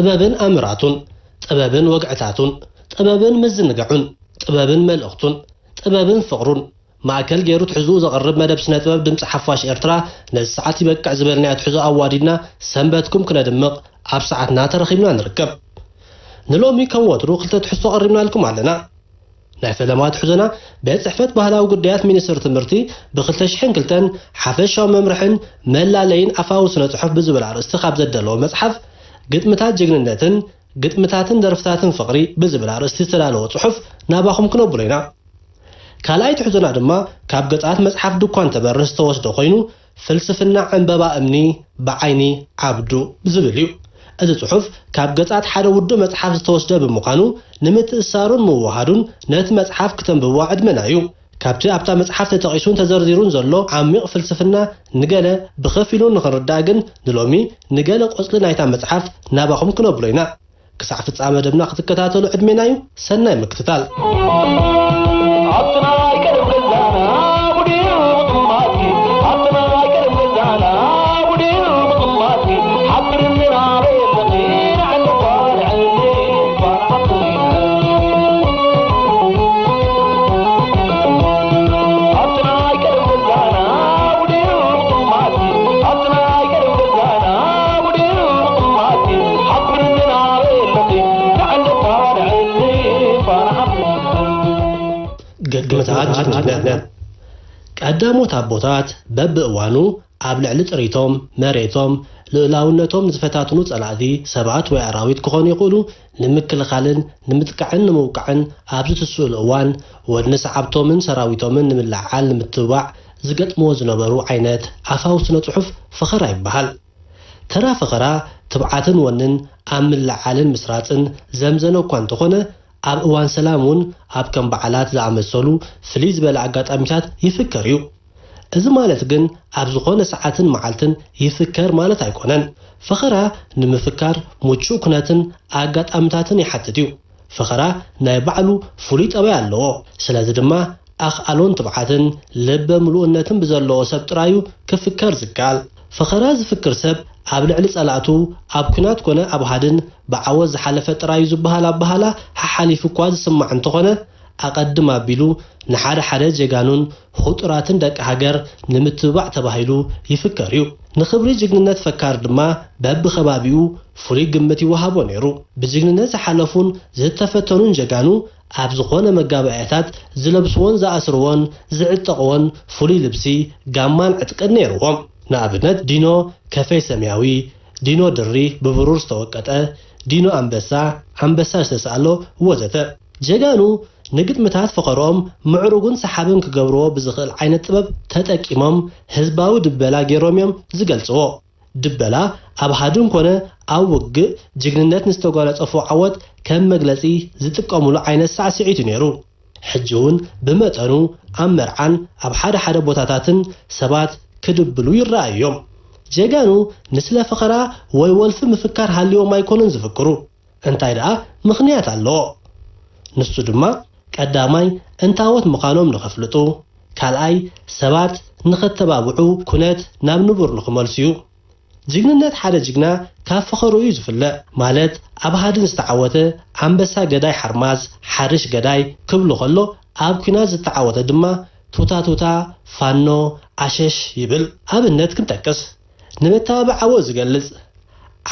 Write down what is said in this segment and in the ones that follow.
ጥበብን ኣምራቱን፣ ጥበብን ወግዕታቱን፣ ጥበብን ምዝንጋዑን፣ ጥበብን መልእኽቱን፣ ጥበብን ፍቕሩን ማእከል ገይሩ ትሕዝኡ ዘቕርብ መደብ ስነ ጥበብ ድምፂ ሓፋሽ ኤርትራ ነዚ ሰዓት ይበቅዕ ዝበልናዮ ትሕዞ ኣዋዲድና ሰንበትኩም ክነድምቕ ኣብ ሰዓትና ተረኺብና ንርከብ። ንሎሚ ከም ወትሩ ክልተ ትሕዝቶ ቀሪብናልኩም ኣለና። ናይ ፈለማ ትሕዞና ቤት ጽሕፈት ባህላዊ ጉዳያት ሚኒስትሪ ትምህርቲ ብ ክልተ ሽሕን ክልተን ሓፈሻዊ መምርሕን መላለይን ኣፋዊ ስነ ጽሑፍ ብዝብል ኣርእስቲ ካብ ዘደለዎ መጽሓፍ ግጥምታት ጅግንነትን ግጥምታትን ደርፍታትን ፍቕሪ ብዝብል ኣርእስቲ ዝተዳለወ ጽሑፍ ናባኹም ክነብሎ ኢና። ካልኣይ ትሕዞና ድማ ካብ ገጻት መጽሓፍ ድኳን ተበርህ ዝተወስደ ኮይኑ ፍልስፍና ዕምበባ እምኒ ብዓይኒ ዓብዱ ዝብል እዩ። እዚ ጽሑፍ ካብ ገጻት ሓደ ውዱእ መጽሓፍ ዝተወስደ ብምዃኑ ንምትእሳሩን ምውሃዱን ነቲ መጽሓፍ ክተንብብዋ ዕድመና እዩ። ካብቲ ኣብታ መጽሓፍ ተጠቒሱን ተዘርዚሩን ዘሎ ዓሚቕ ፍልስፍና ንገለ ብኸፊሉ ንኽንርዳእ ግን ንሎሚ ንገለ ቆጽሊ ናይታ መጽሓፍ ናባኹም ክነብሎ ኢና። ክሳዕ ፍጻመ መደብና ክትከታተሉ ዕድሜና እዩ። ሰናይ ምክትታል። ኣብቲ ናይ ቀደም ገዛና ውዲኡ ጥማትኪ፣ ኣብቲ ናይ ቀደም ገዛና ውዲኡ ጥማትኪ፣ ሓብርኒ ናበይ ኣለኺ፣ ንዕሊ ጓል ዕሊ ጓል ሓብርኒ። ኣብቲ ናይ ቀደም ገዛና ውዲኡ ጥማትኪ፣ ኣብቲ ናይ ቀደም ገዛና ውዲኡ ጥማትኪ፣ ሓብርኒ ናበይ ኣለኺ፣ ንዕሊ ጓል ዕሊ ጓል ሓብርኒ። ግጥምታት ጅግንነት። ቀዳሞት ኣቦታት በብእዋኑ ኣብ ልዕሊ ጥሪቶም፣ መሬቶም፣ ልኡላውነቶም ንዝፈታትኑ ጸላእቲ ሰባት ወይ ኣራዊት ክኾኑ ይኽእሉ፣ ንምክልኻልን ንምጥቃዕን ንምውቃዕን ኣብ ዝትስእሉ እዋን፣ ወድኒ ሰዓብቶምን ሰራዊቶምን ንምልዕዓል ንምትብባዕ ዝገጥምዎ ዝነበሩ ዓይነት ኣፋዊ ስነ ጽሑፍ ፈኸራ ይበሃል። ተራ ፈኸራ ትብዓትን ወንን ኣብ ምልዕዓልን ምስራጽን ዘምዘነ እኳ እንተኾነ፣ ኣብ እዋን ሰላም እውን ኣብ ከም በዓላት ዝኣመሰሉ ፍልይ ዝበለ ኣጋጣሚታት ይፍከር እዩ። እዚ ማለት ግን ኣብ ዝኾነ ሰዓትን መዓልትን ይፍከር ማለት ኣይኮነን። ፈኸራ ንምፍካር ምቹእ ኩነትን ኣጋጣሚታትን ይሓትት እዩ። ፈኸራ ናይ ባዕሉ ፍሉይ ጠባይ ኣለዎ። ስለዚ ድማ ኣኽኣሎን ትብዓትን ልበ ምሉእነትን ብዘለዎ ሰብ ጥራዩ ክፍከር ዝከኣል። ፈኸራ ዝፍክር ሰብ ኣብ ልዕሊ ጸላእቱ ኣብ ኲናት ኮነ ኣብ ሃድን ብዓወት ዝሓለፈ ጥራዩ ዝበሃል ኣበሃላ ሓሓሊፉ እኳ ዝስማዕ እንተኾነ፣ ኣቐድም ኣቢሉ ንሓደ ሓደ ጀጋኑን ኹጡራትን ደቂ ሃገር ንምትብባዕ ተባሂሉ ይፍከር እዩ። ንኽብሪ ጅግንነት ፈካር ድማ በብኸባቢኡ ፍሉይ ግምት ይወሃቦ ነይሩ። ብጅግንነት ዝሓለፉን ዝተፈተኑን ጀጋኑ ኣብ ዝኾነ መጋባእያታት ዝለብስዎን ዝኣስርዎን ዝዕጠቕዎን ፍሉይ ልብሲ፣ ጋማን ዕጥቅን ነይርዎም። ንኣብነት ዲኖ ከፈይ ሰማያዊ፣ ዲኖ ድሪ ብብሩር ዝተወቀጠ፣ ዲኖ ኣንበሳ፣ ኣንበሳ ዝተሳእሎ ወዘተ። ጀጋኑ ንግጥምታት ፈኸርኦም ምዕሩግን ሰሓብን ክገብርዎ ብዝኽእል ዓይነት ጥበብ ተጠቂሞም ህዝባዊ ድበላ ገይሮም እዮም ዝገልጽዎ። ድበላ ኣብ ሃድን ኮነ ኣብ ውግእ ጅግንነት ንዝተጓነጸፎ ዓወት ከም መግለጺ ዝጥቀሙሉ ዓይነት ሳዕስዒት እዩ ነይሩ። ሕጂ እውን ብመጠኑ ኣብ መርዓን ኣብ ሓደ ሓደ ቦታታትን ሰባት ክድብሉ ይረኣዩ እዮም። ጀጋኑ ንስለ ፈኸራ ወይ ወልፊ ምፍካር ሃልዮም ኣይኮኑን ዝፍክሩ። እንታይ ደኣ ምኽንያት ኣለዎ። ንሱ ድማ ቀዳማይ እንታዎት ምዃኖም ንኸፍልጡ፣ ካልኣይ ሰባት ንኸተባብዑ ኩነት ናብ ንቡር ንኽመልሱ እዩ። ጅግንነት ሓደ ጅግና ካብ ፈኸርኡ እዩ ዝፍለ። ማለት ኣብ ሃድን ዝተዓወተ ኣንበሳ ገዳይ ሓርማዝ ሓርሽ ገዳይ ክብሉ ከሎ ኣብ ኲናት ዝተዓወተ ድማ ቱታ ቱታ ፋኖ ዓሸሽ ይብል። ኣብነት ክንጠቅስ ንመተባብዓዎ ዝገልጽ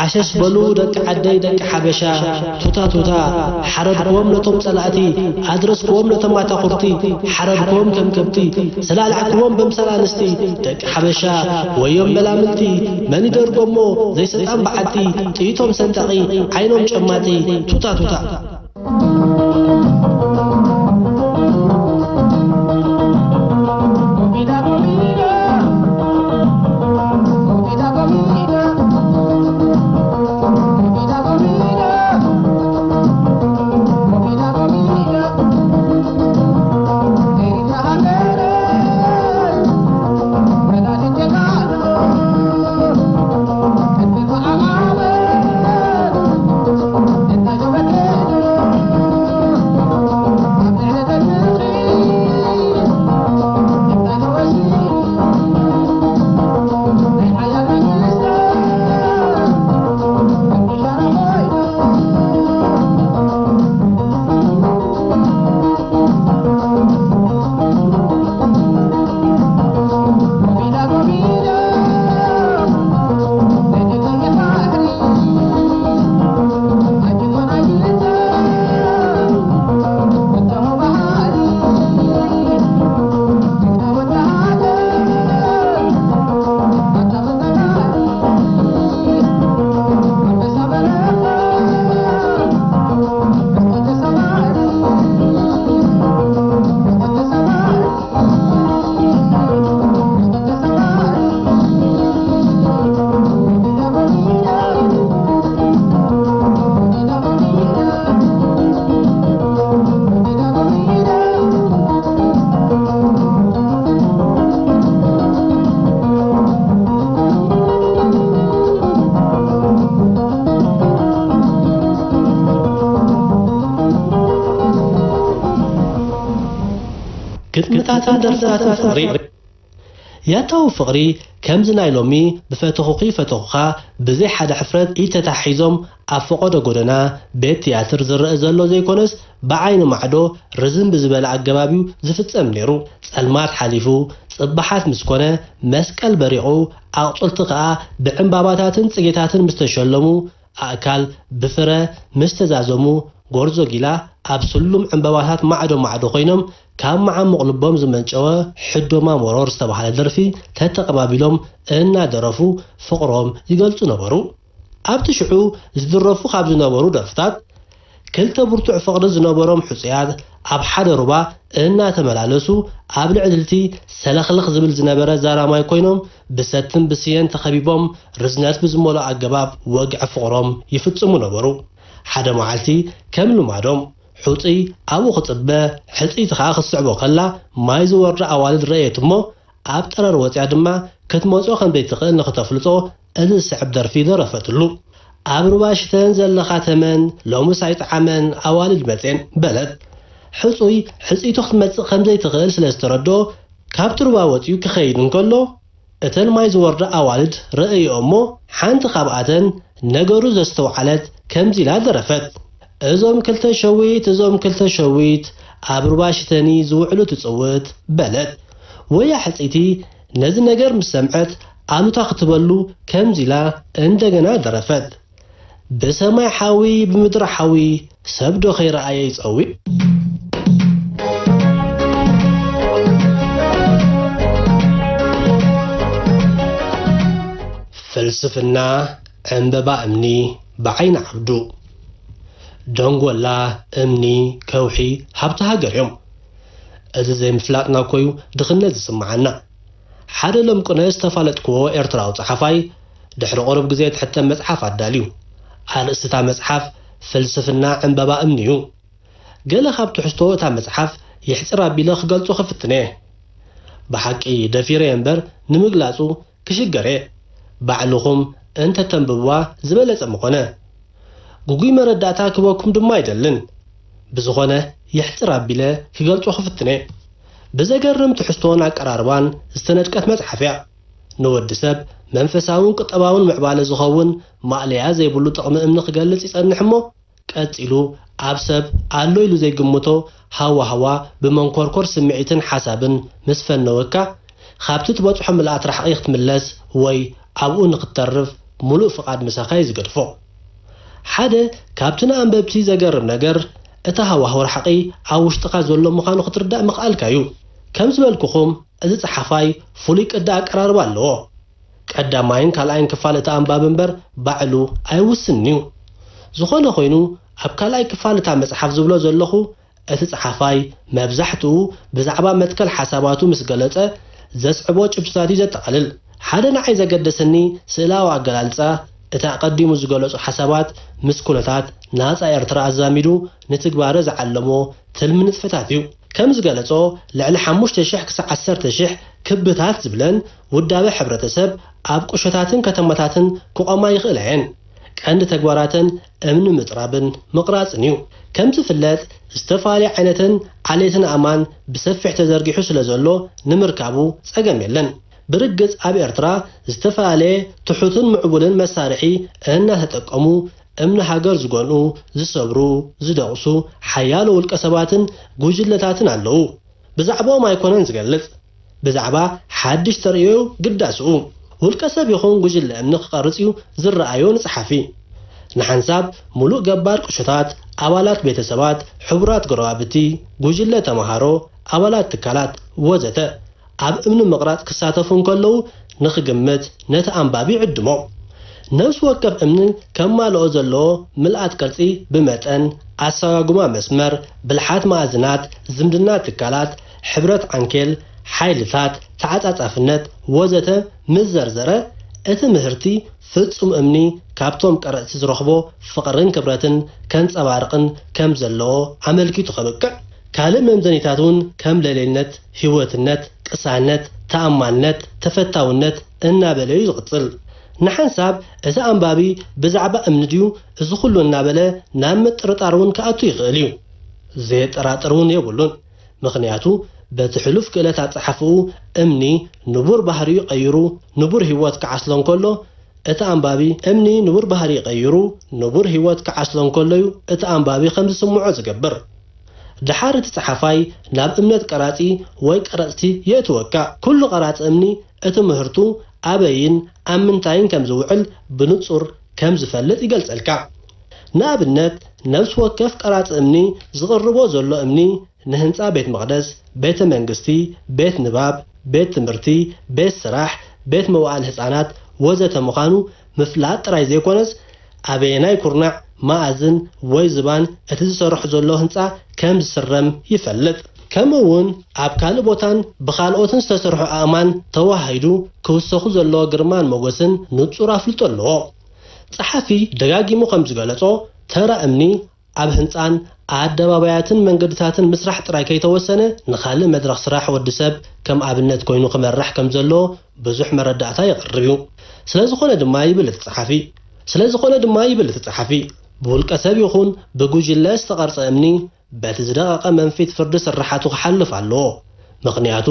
ዓሸሽ በሉ ደቂ ዓደይ ደቂ ሓበሻ ቱታ ቱታ ሓረድክዎም ነቶም ጸላእቲ ኣድረስክዎም ነቶም ኣታኹርቲ ሓረድክዎም ከም ከብቲ ስላልዓክዎም በምሰል ኣንስቲ ደቂ ሓበሻ ወዮም መላምልቲ መን ይደርጎሞ ዘይሰጣም በዓቲ ጥይቶም ሰንጣቒ ዓይኖም ጨማጢ ቱታ ቱታ። ግጥምታትን ደርፍታትን ፍቕሪ። ያታዊ ፍቕሪ ከምዚ ናይ ሎሚ ብፈተኹኺ ፈተኹኻ ብዘይ ሓደ ሕፍረት ኢድ ተታሒዞም ኣብ ፈቐዶ ጎደና ቤት ትያትር ዝረአ ዘሎ ዘይኮነስ፣ ብዓይኒ ማዕዶ ርዝን ብዝበለ ኣገባብ እዩ ዝፍጸም ነይሩ። ጸልማት ሓሊፉ፣ ጽባሓት ምስ ኮነ፣ መስቀል በሪቑ፣ ኣቑጽልቲ ከኣ ብዕምባባታትን ጽጌታትን ምስ ተሸለሙ፣ ኣእካል ብፍረ ምስ ተዛዘሙ፣ ጎርዞ ጊላ ኣብ ስሉም ዕምባባታት ማዕዶ ማዕዶ ኮይኖም፣ ካብ መዓሙቕ ልቦም ዝመንጨወ ሕዶማ መሮር ዝተባህለ ደርፊ ተተቐባቢሎም እናደረፉ ፍቕሮም ይገልጹ ነበሩ። ኣብቲ ሽዑ ዝድረፉ ካብ ዝነበሩ ደርፍታት፣ ክልተ ብርቱዕ ፍቕሪ ዝነበሮም ሕጹያት ኣብ ሓደ ሩባ እናተመላለሱ፣ ኣብ ልዕሊ እቲ ሰለኽለኽ ዝብል ዝነበረ ዛራማይ ኮይኖም፣ ብሰትን ብስየን ተኸቢቦም፣ ርዝነት ብዝመልኦ ኣገባብ ወግዒ ፍቕሮም ይፍጽሙ ነበሩ። ሓደ መዓልቲ፣ ከም ልማዶም፣ ሕጹይ ኣብኡ ክጽበ፣ ሕጽይቲ ኸኣ ክትስዕቦ ከላ፣ ማይ ዝወርዳ ኣዋልድ ረእየት እሞ፣ ኣብ ጠረር ወጺኣ ድማ ክትመጾ ከም ዘይትኽእል ንኽተፍልጦ፣ እዚ ዝስዕብ ደርፊ ደረፈትሉ። ኣብ ሩባ ሽተን ዘለኻ ተመን፣ ሎምስ ኣይጠዓመን፣ ኣዋልድ መጼን፣ በለት። ሕጹይ፣ ሕጽይቱ ክትመጽእ ከም ዘይትኽእል ስለ ዝተረድኦ፣ ካብቲ ሩባ ወጺኡ ክኸይድ እንከሎ፣ እተን ማይ ዝወርዳ ኣዋልድ ረእዮ እሞ፣ ሓንቲ ካብኣተን ነገሩ ዘስተውዓለት ከምዚ ኢላ ደረፈት። እዞም ክልተ ሸዊት፣ እዞም ክልተ ሸዊት፣ ኣብ ሩባ ሽተኒ ዝውዕሉ ትጽውት፣ በለት። ወያ ሕጽይቲ ነዚ ነገር ምስ ሰምዐት፣ ኣሉታ ክትበሉ ከምዚ ኢላ እንደገና ደረፈት። ብሰማይ ሓዊ፣ ብምድሪ ሓዊ፣ ሰብ ዶ ከይረኣየ ይጸዊ? ፍልስፍና ዕምበባ እምኒ ብዓይኒ ዓብዱ። ደንጎላ፣ እምኒ፣ ከውሒ ሃብቲ ሃገር እዮም። እዚ ዘይምፍላጥና እኮ እዩ ድኽነት ዝስምዓና። ሓደ ሎም ቅነ ዝተፋለጥክዎ ኤርትራዊ ጸሓፋይ ድሕሪ ቁሩብ ግዜ ትሕተም መጽሓፍ ኣዳልዩ። ኣርእስቲ እታ መጽሓፍ ፍልስፍና ዕምበባ እምኒ እዩ። ገለ ካብ ትሕዝቶ እታ መጽሓፍ የሕጽር ኣቢለ ክገልጾ ክፍትን እየ። ብሓቂ ደፊረ እየ እምበር ንምግላጹ ክሽገር እየ። ባዕልኹም እንተ ተንብብዋ ዝበለጸ ምኾነ። ግጉይ መረዳእታ ክበኩም ድማ ኣይደልን። ብዝኾነ የሕጽር ኣቢለ ክገልጾ ክፍትን እየ። ብዘገርም ትሕዝቶን ኣቀራርባን ዝተነድቀት መጽሓፍ እያ። ንወዲ ሰብ መንፈሳውን ቁጠባውን ምዕባለ ዝኸውን ማእለያ ዘይብሉ ጥቕሚ እምኒ ክገልጽ ይጸንሕ እሞ፣ ቀጺሉ ኣብ ሰብ ኣሎ ኢሉ ዘይግምቶ ሃዋህዋ ብመንኮርኮር ስምዒትን ሓሳብን ምስ ፈነወካ፣ ካብቲ ትበጽሖ ምልኣት ራሕቂ ክትምለስ ወይ ኣብኡ ንክትተርፍ ምሉእ ፍቓድ ምሳኻ እዩ ዝገድፎ። ሓደ ካብቲ ንኣንበብቲ ዘገርም ነገር፣ እቲ ሃዋህው ራሕቂ ኣብ ውሽጥኻ ዘሎ ምዃኑ ክትርዳእ ምኽኣልካ እዩ። ከም ዝበልኩኹም፣ እዚ ጸሓፋይ ፍሉይ ቅዲ ኣቀራርባ ኣለዎ። ቀዳማይን ካልኣይን ክፋል እቲ ኣንባቢ እምበር ባዕሉ ኣይውስንን እዩ። ዝኾነ ኮይኑ፣ ኣብ ካልኣይ ክፋል እታ መጽሓፍ ዝብሎ ዘለኹ፣ እቲ ጸሓፋይ መብዛሕትኡ ብዛዕባ መትከል ሓሳባቱ ምስ ገለጸ፣ ዘስዕቦ ጭብጥታት እዩ ዘጠቓልል። ሓደ ንዓይ ዘገደሰኒ ስእላዊ ኣገላልጻ፣ እቲ ኣቐዲሙ ዝገለጾ ሓሳባት ምስ ኩነታት ናጻ ኤርትራ ኣዛሚዱ ንትግባረ ዝዓለሞ ትልሚ ንጥፈታት እዩ። ከም ዝገለጾ፣ ልዕሊ ሓሙሽተ ሽሕ ክሳዕ ዓሰርተ ሽሕ ክብታት ዝብለን ውዳበ ሕብረተሰብ ኣብ ቁሸታትን ከተማታትን ክቖማ ይኽእላ እየን። ቀንዲ ተግባራተን እምኒ ምጥራብን ምቕራጽን እዩ። ከም ዝፍለጥ፣ ዝተፈላለየ ዓይነትን ዓሌትን ኣእማን ብሰፊሕ ተዘርጊሑ ስለ ዘሎ፣ ንምርካቡ ጸገም የለን። ብርግጽ፣ ኣብ ኤርትራ ዝተፈላለየ ትሑትን ምዕቡልን መሳርሒ እናተጠቀሙ እምኒ ሃገር ዝጎንኡ፣ ዝሰብሩ፣ ዝደቕሱ ሓያሎ ውልቀ ሰባትን ጉጅለታትን ኣለዉ። ብዛዕባኦም ኣይኮነን ዝገልጽ፣ ብዛዕባ ሓድሽ ተርእዮ ግዳስኡ። ውልቀ ሰብ ይኹን ጉጅለ እምኒ ክቐርጽ እዩ ዝረኣዮ ንጸሓፊ። ንሓንሳብ፣ ምሉእ ገባር ቁሸታት፣ ኣባላት ቤተሰባት፣ ሕቡራት ጎረባብቲ፣ ጉጅለ ተመሃሮ፣ ኣባላት ትካላት ወዘተ ኣብ እምኒ ምቕራጽ ክሳተፉ እንከለዉ ንኽግምት ነቲ ኣንባቢ ይዕድሞ። ነፍሲ ወከፍ እምኒ ከማልኦ ዘለዎ ምልኣት ቅርጺ ብመጠን፣ ኣሰጓጉማ መስመር፣ ብልሓት መኣዝናት፣ ዝምድና ትካላት፣ ሕብረት ዓንኬል፣ ሓይልታት፣ ተዓጻጻፍነት ወዘተ ምስ ዘርዘረ፣ እቲ ምህርቲ ፍጹም እምኒ ካብቶም ቀረጽቲ ዝረኽቦ ፍቕርን ክብረትን ከንጸባርቕን ከም ዘለዎ ኣመልኪቱ ከብቅዕ፣ ካልእ መምዘኒታት እውን ከም ለሌልነት፣ ህይወትነት፣ ቅሳነት፣ ተኣማንነት፣ ተፈታውነት እናበለ እዩ ዝቕጽል። ንሓንሳብ እቲ ኣንባቢ ብዛዕባ እምኒ ድዩ እዚ ኩሉ እናበለ ናብ ምጥርጣር እውን ክኣቱ ይኽእል እዩ። ዘየጠራጥር እውን የብሉን። ምኽንያቱ በቲ ሕሉፍ ክእለት ኣጸሓፍኡ እምኒ ንቡር ባህሪኡ ቀይሩ ንቡር ህይወት ክዓስሎ እንከሎ፣ እቲ ኣንባቢ እምኒ ንቡር ባህሪ ቀይሩ ንቡር ህይወት ክዓስሎ እንከሎ እዩ እቲ ኣንባቢ ከም ዝስምዖ ዝገብር። ደሓር እቲ ጸሓፋይ ናብ እምነት ቀራጺ ወይ ቀረጽቲ የእትወካ። ኩሉ ቀራጺ እምኒ እቲ ምህርቱ ኣበይን ኣብ ምንታይን ከም ዝውዕል ብንጹር ከም ዝፈልጥ ይገልጸልካ። ንኣብነት፣ ነፍሲ ወከፍ ቀራጺ እምኒ ዝቕርቦ ዘሎ እምኒ ንህንጻ ቤት መቕደስ፣ ቤተ መንግስቲ፣ ቤት ንባብ፣ ቤት ትምህርቲ፣ ቤት ስራሕ፣ ቤት መዋዕለ ህጻናት ወዘተ ምዃኑ ምፍላጥ ጥራይ ዘይኮነስ፣ ኣበየናይ ኩርናዕ፣ መኣዝን ወይ ዝባን እቲ ዝሰርሖ ዘሎ ህንጻ ከም ዝስረም ይፈልጥ። ከምኡ እውን ኣብ ካልእ ቦታን ብኻልኦትን ዝተሰርሑ ኣእማን ተወሃሂዱ ክውሰኹ ዘለዎ ግርማን ሞገስን ንጹር ኣፍልጦ ኣለዎ። ጸሓፊ ደጋጊሙ ከም ዝገለጾ፣ ተራ እምኒ ኣብ ህንጻን ኣደባባያትን መንገድታትን ምስራሕ ጥራይ ከይተወሰነ፣ ንኻልእ መድረኽ ስራሕ ወዲ ሰብ ከም ኣብነት ኮይኑ ክመርሕ ከም ዘለዎ ብዙሕ መረዳእታ የቕርብ እዩ። ስለ ዝኾነ ድማ ይብል እቲ ጸሓፊ፣ ስለ ዝኾነ ድማ ይብል እቲ ጸሓፊ፣ ብውልቀ ሰብ ይኹን ብጉጅለ ዝተቐርጸ እምኒ በቲ ዝደቐቐ መንፊት ፍርዲ ስርሓቱ ክሓልፍ ኣለዎ። ምኽንያቱ፣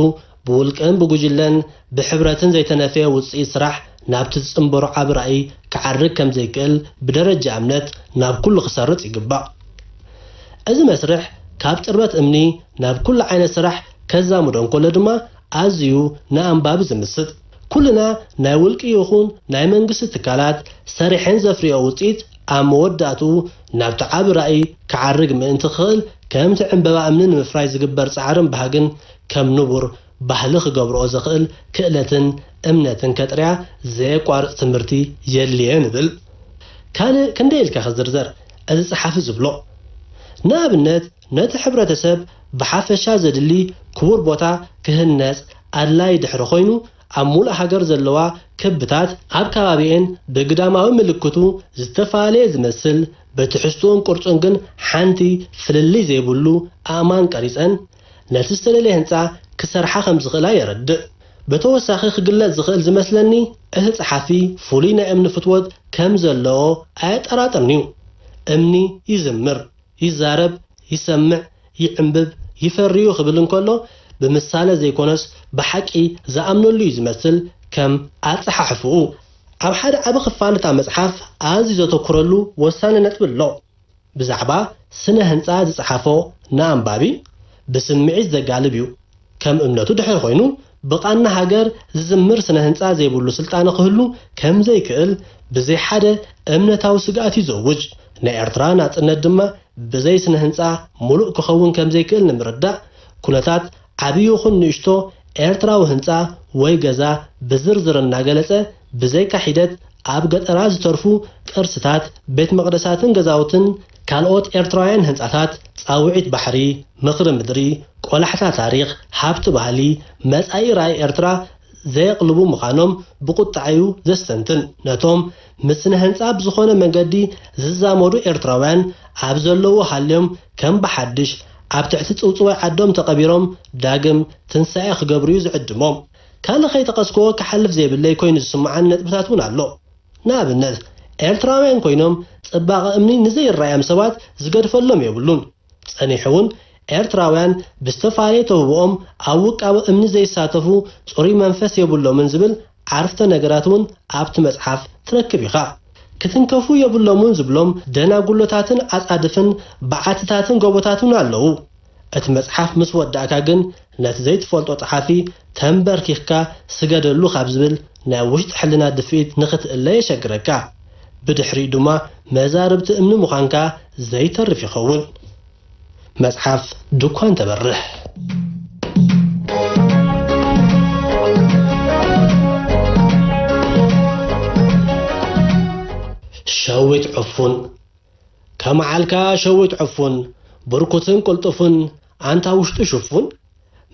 ብውልቅን ብጉጅለን ብሕብረትን ዘይተነፍየ ውጽኢት ስራሕ ናብቲ ዝጽንበሮ ዓቢ ራእይ ክዓርግ ከም ዘይክእል ብደረጃ እምነት ናብ ኩሉ ክሰርጽ ይግባእ። እዚ መስርሕ ካብ ጥርበት እምኒ ናብ ኩሉ ዓይነት ስራሕ ከዛምዶ እንከሎ ድማ ኣዝዩ ንኣንባቢ ዝምስጥ። ኩልና ናይ ውልቂ ይኹን ናይ መንግስቲ ትካላት ሰሪሐን ዘፍርዮ ውጽኢት ኣብ መወዳእትኡ ናብቲ ዓቢ ራእይ ክዓርግ ምእንቲ ክኽእል ከምቲ ዕምበባ እምኒ ንምፍራይ ዝግበር ጻዕርን ባህግን ከም ንቡር ባህሊ ክገብርኦ ዘኽእል ክእለትን እምነትን ከጥርያ ዘየቋርጽ ትምህርቲ የድልየ ንብል። ካልእ ክንደይ ኢልካ ክዝርዘር እዚ ጸሓፊ ዝብሎ። ንኣብነት ነቲ ሕብረተሰብ ብሓፈሻ ዘድሊ ክቡር ቦታ ክህነጽ ኣድላይ ድሕሪ ኮይኑ፣ ኣብ ሙሉእ ሃገር ዘለዋ ክብታት ኣብ ከባቢኤን ብግዳማዊ ምልክቱ ዝተፈላለየ ዝመስል፣ ብትሕዝትኡን ቅርጹን ግን ሓንቲ ፍልልይ ዘይብሉ ኣእማን ቀሪጸን ነቲ ዝተደለየ ህንጻ ክሰርሓ ከም ዝኽእላ የረድእ። ብተወሳኺ ክግለጽ ዝኽእል ዝመስለኒ፣ እቲ ጸሓፊ ፍሉይ ናይ እምኒ ፍትወት ከም ዘለዎ ኣየጠራጥርን እዩ። እምኒ ይዝምር፣ ይዛረብ፣ ይሰምዕ፣ ይዕንብብ፣ ይፈሪ እዩ ክብል እንከሎ፣ ብምሳለ ዘይኮነስ ብሓቂ ዝኣምነሉ እዩ ዝመስል ከም ኣጸሓሕፍኡ። ኣብ ሓደ ዓቢ ክፋል እታ መጽሓፍ ኣዝዩ ዘተኩረሉ ወሳኒ ነጥቢ ኣሎ። ብዛዕባ ስነ ህንጻ ዝጸሓፎ ንኣንባቢ ብስምዒት ዘጋልብ እዩ። ከም እምነቱ ድሕሪ ኮይኑ፣ ብቓና ሃገር ዝዝምር ስነ ህንጻ ዘይብሉ ስልጣነ ክህሉ ከም ዘይክእል ብዘይ ሓደ እምነታዊ ስግኣት እዩ ዘውጅ። ናይ ኤርትራ ናጽነት ድማ ብዘይ ስነ ህንጻ ሙሉእ ክኸውን ከም ዘይክእል ንምርዳእ፣ ኩነታት ዓቢ ይኹን ንእሽቶ ኤርትራዊ ህንጻ ወይ ገዛ ብዝርዝር እናገለጸ፣ ብዘይካ ሒደት ኣብ ገጠራት ዝተርፉ ቅርስታት፣ ቤት መቕደሳትን ገዛውትን ካልኦት ኤርትራውያን ህንጻታት፣ ጻውዒት ባሕሪ፣ ምኽሪ ምድሪ፣ ቆላሕታ ታሪኽ፣ ሃብቲ ባህሊ፣ መጻኢ ራእይ ኤርትራ ዘየቕልቡ ምዃኖም ብቁጥዐ እዩ ዘስተንትን። ነቶም ምስ ስነ ህንጻ ብዝኾነ መንገዲ ዝዛመዱ ኤርትራውያን ኣብ ዘለዉ ሃልዮም ከም ብሓድሽ ኣብ ትሕቲ ጽውጽዋይ ዓዶም ተቐቢሮም ዳግም ትንሳኤ ክገብሩ እዩ ዝዕድሞም። ካልእ ከይጠቐስክዎ ክሓልፍ ዘይብለይ ኮይኑ ዝስምዓኒ ነጥብታት እውን ኣሎ። ንኣብነት፣ ኤርትራውያን ኮይኖም ጽባቐ እምኒ ንዘይረኣዮም ሰባት ዝገድፈሎም የብሉን። ጸኒሑ እውን ኤርትራውያን ብዝተፈላለየ ተውህቦኦም ኣብ ውቃበ እምኒ ዘይሳተፉ ጽሩይ መንፈስ የብሎምን ዝብል ዓርፍተ ነገራት እውን ኣብቲ መጽሓፍ ትረክብ ኢኻ። ክትንከፉ የብሎምን ዝብሎም ደናጉሎታትን ኣጻድፍን በዓትታትን ጎቦታትን ኣለዉ። እቲ መጽሓፍ ምስ ወዳእካ ግን ነቲ ዘይትፈልጦ ጸሓፊ ተንበርኪኽካ ስገደሉ ካብ ዝብል ናይ ውሽጢ ሕልና ድፍኢት ንኽትእለ የሸግረካ። ብድሕሪኡ ድማ መዛርብቲ እምኒ ምዃንካ ዘይተርፍ ይኸውን። መጽሓፍ ድኳን ተበርህ። ሸዊት ዕፉን። ከመዓልካ ሸዊት ዕፉን፣ ብርኩትን ቅልጡፍን፣ ኣንታ ውሽጡ ሽፉን፣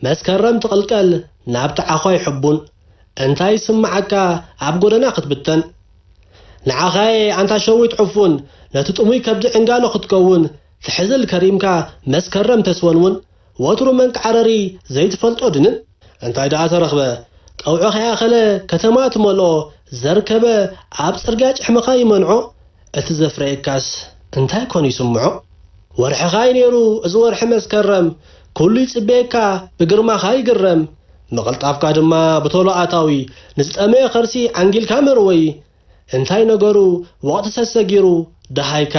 መስከረም ትቕልቀል ናብቲ ዓዃይ ሕቡን፣ እንታይ ይስምዓካ ኣብ ጎደና ክትብተን? ንዓኻየ ኣንታ ሸዊት ዕፉን፣ ነቲ ጥሙይ ከብዲ ዕንጋሎ ክትከውን፣ ትሕዝል ከሪምካ መስከረም ተስወንውን፣ ወትሩ መንቃዕረሪ ዘይትፈልጦ ድንን? እንታይ ደኣ ተረኽበ? ቀውዒ ከይኣኸለ ከተማ ትመልኦ፣ ዘርከበ ኣብ ጽርግያ ጭሕምኻ ይመንዖ፣ እቲ ዘፍረየካስ እንታይ ኮን ይስምዖ? ወርሕኻ እዩ ነይሩ እዚ ወርሒ መስከረም፣ ኩሉ ይጽበየካ፣ ብግርማኻ ይግረም፣ ምቕልጣፍካ ድማ ብቶሎ ኣታዊ፣ ንዝጠመየ ከርሲ ዓንጊልካ መርወይ። እንታይ ነገሩ፣ ወቕቲ ሰሰጊሩ፣ ደሃይካ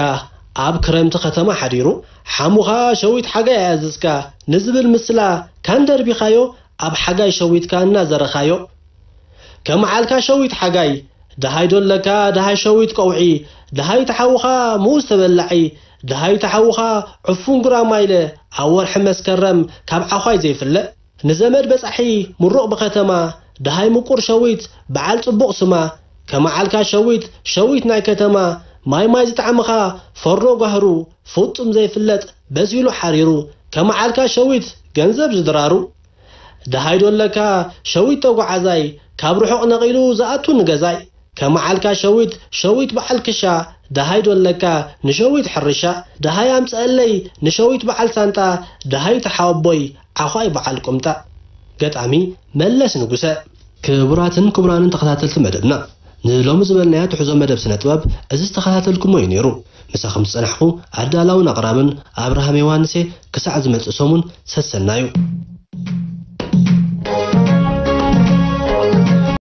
ኣብ ክረምቲ ከተማ ሓዲሩ፣ ሓሙኻ ሸዊት ሓጋይ ኣያዝዝካ ንዝብል ምስላ ካን ደርቢኻዮ፣ ኣብ ሓጋይ ሸዊትካ እናዘረኻዮ። ከመዓልካ ሸዊት ሓጋይ፣ ደሃይ ዶ ኣለካ ደሃይ ሸዊት ቀውዒ፣ ደሃይ ተሓውኻ ሙዝ ተበላዒ፣ ደሃይ ተሓውኻ ዕፉን ጉራማይለ፣ ኣብ ወርሒ መስከረም ካብ ዓዃይ ዘይፍለ። ንዘመድ በጻሒ ምሩቕ ብኸተማ፣ ደሃይ ምቁር ሸዊት በዓል ጽቡቕ ስማ፣ ከመዓልካ ሸዊት ሸዊት ናይ ከተማ፣ ማይ ማይ ዝጣዕምኻ ፈርኖ ጓህሩ፣ ፍጹም ዘይፍለጥ በሲሉ ሓሪሩ፣ ከመዓልካ ሸዊት ገንዘብ ዝድራሩ። ደሃይ ዶ ኣለካ ሸዊት ተጓዓዛይ፣ ካብ ርሑቕ ነቒሉ ዝኣቱ ንገዛይ፣ ከመዓልካ ሸዊት ሸዊት በዓል ክሻ፣ ደሃይ ዶ ኣለካ ንሸዊት ሕርሻ፣ ደሃይ ኣምጽአለይ ንሸዊት በዓል ሳንጣ፣ ደሃይ ተሓወቦይ ዓዃይ በዓል ቁምጣ። ገጣሚ መለስ ንጉሰ። ክቡራትን ክቡራንን ተኸታተልቲ መደብና፣ ንሎሚ ዝበልናዮ ትሕዞ መደብ ስነ ጥበብ እዚ ዝተኸታተልኩሞ እዩ ነይሩ። ምሳኹም ዝጸናሕኩ ኣዳላውን ኣቕራብን ኣብርሃም ዮሃንሴ። ክሳዕ ዝመጽእ ሰሙን ሰሰናዩ።